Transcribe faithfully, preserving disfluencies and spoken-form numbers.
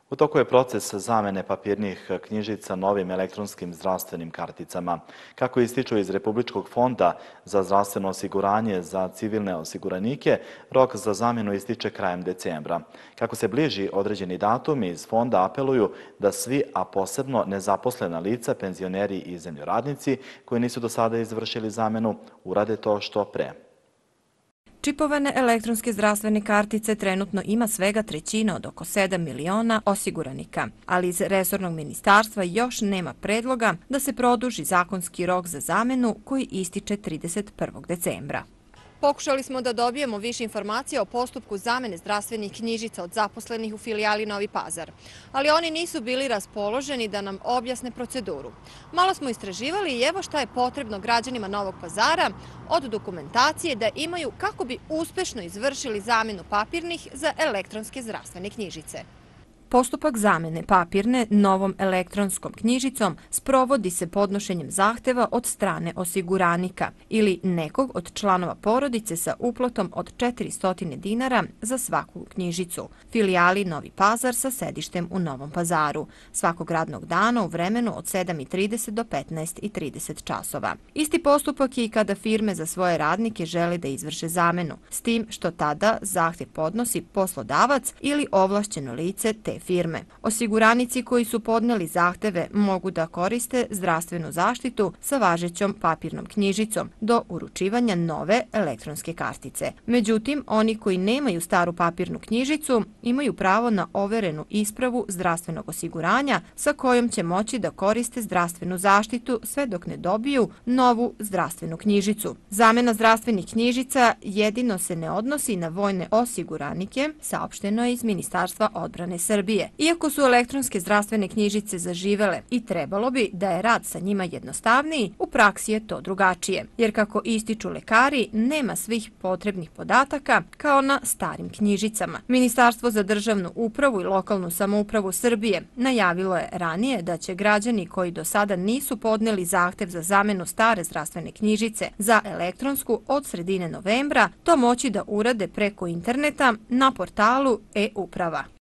U toku je proces zamene papirnih knjižica novim elektronskim zdravstvenim karticama. Kako ističu iz Republičkog fonda za zdravstveno osiguranje za civilne osiguranike, rok za zamjenu ističe krajem decembra. Kako se bliži određeni datum, iz fonda apeluju da svi, a posebno nezaposlena lica, penzioneri i zemljoradnici koji nisu do sada izvršili zamjenu, urade to što pre. Čipovane elektronske zdravstvene kartice trenutno ima svega trećina od oko sedam miliona osiguranika, ali iz resornog ministarstva još nema predloga da se produži zakonski rok za zamjenu koji ističe trideset prvog decembra. Pokušali smo da dobijemo više informacija o postupku zamene zdravstvenih knjižica od zaposlenih u filijali Novi Pazar, ali oni nisu bili raspoloženi da nam objasne proceduru. Malo smo istraživali i evo šta je potrebno građanima Novog Pazara od dokumentacije da imaju kako bi uspešno izvršili zamjenu papirnih za elektronske zdravstvene knjižice. Postupak zamjene papirne novom elektronskom knjižicom sprovodi se podnošenjem zahteva od strane osiguranika ili nekog od članova porodice sa uplatom od četiristo dinara za svaku knjižicu. Filijali Novi Pazar sa sedištem u Novom Pazaru, svakog radnog dana u vremenu od sedam i trideset do petnaest i trideset časova. Isti postupak je i kada firme za svoje radnike žele da izvrše zamjenu, s tim što tada zahtjev podnosi poslodavac ili ovlašćeno lice te firme. Osiguranici koji su podneli zahteve mogu da koriste zdravstvenu zaštitu sa važećom papirnom knjižicom do uručivanja nove elektronske kartice. Međutim, oni koji nemaju staru papirnu knjižicu imaju pravo na overenu ispravu zdravstvenog osiguranja sa kojom će moći da koriste zdravstvenu zaštitu sve dok ne dobiju novu zdravstvenu knjižicu. Zamjena zdravstvenih knjižica jedino se ne odnosi na vojne osiguranike, saopšteno je iz Ministarstva odbrane Srbije. Iako su elektronske zdravstvene knjižice zaživele i trebalo bi da je rad sa njima jednostavniji, u praksi je to drugačije, jer kako ističu lekari, nema svih potrebnih podataka kao na starim knjižicama. Ministarstvo za državnu upravu i lokalnu samoupravu Srbije najavilo je ranije da će građani koji do sada nisu podneli zahtev za zamjenu stare zdravstvene knjižice za elektronsku od sredine novembra to moći da urade preko interneta na portalu e-uprava.